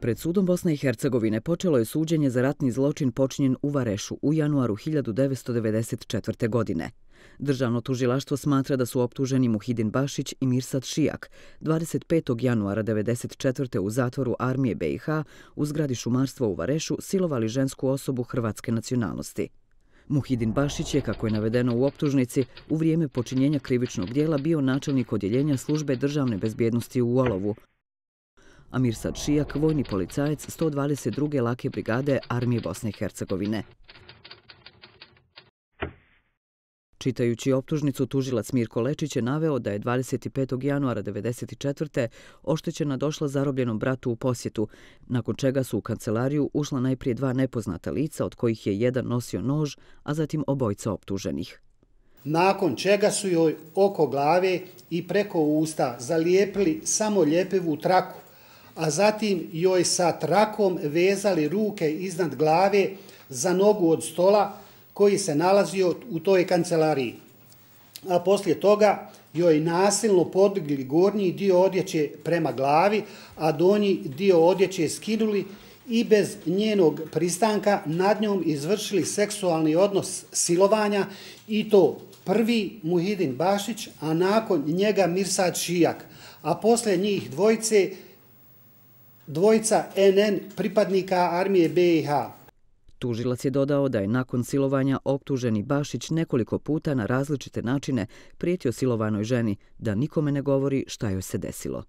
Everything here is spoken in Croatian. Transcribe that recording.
Pred sudom Bosne i Hercegovine počelo je suđenje za ratni zločin počinjen u Varešu u januaru 1994. godine. Državno tužilaštvo smatra da su optuženi Muhidin Bašić i Mirsad Šijak 25. januara 1994. u zatvoru armije BiH u zgradi šumarstva u Varešu silovali žensku osobu hrvatske nacionalnosti. Muhidin Bašić je, kako je navedeno u optužnici, u vrijeme počinjenja krivičnog djela bio načelnik odjeljenja službe državne bezbjednosti u Olovu, a Mirsad Šijak vojni policajac 122. lake brigade armije Bosne i Hercegovine. Čitajući optužnicu, tužilac Mirko Lečić je naveo da je 25. januara 1994. oštećena došla zarobljenom bratu u posjetu, nakon čega su u kancelariju ušla najprije dva nepoznata lica, od kojih je jedan nosio nož, a zatim obojica optuženih. Nakon čega su joj oko glave i preko usta zalijepili samo ljepivu traku, a zatim joj sa trakom vezali ruke iznad glave za nogu od stola koji se nalazio u toj kancelariji. A poslije toga joj nasilno podigli gornji dio odjeće prema glavi, a donji dio odjeće skinuli i bez njenog pristanka nad njom izvršili seksualni odnos silovanja, i to prvi Muhidin Bašić, a nakon njega Mirsad Šijak, a poslije njih dvojica NN pripadnika armije BiH. Tužilac je dodao da je nakon silovanja optuženi Bašić nekoliko puta na različite načine prijetio silovanoj ženi da nikome ne govori šta joj se desilo.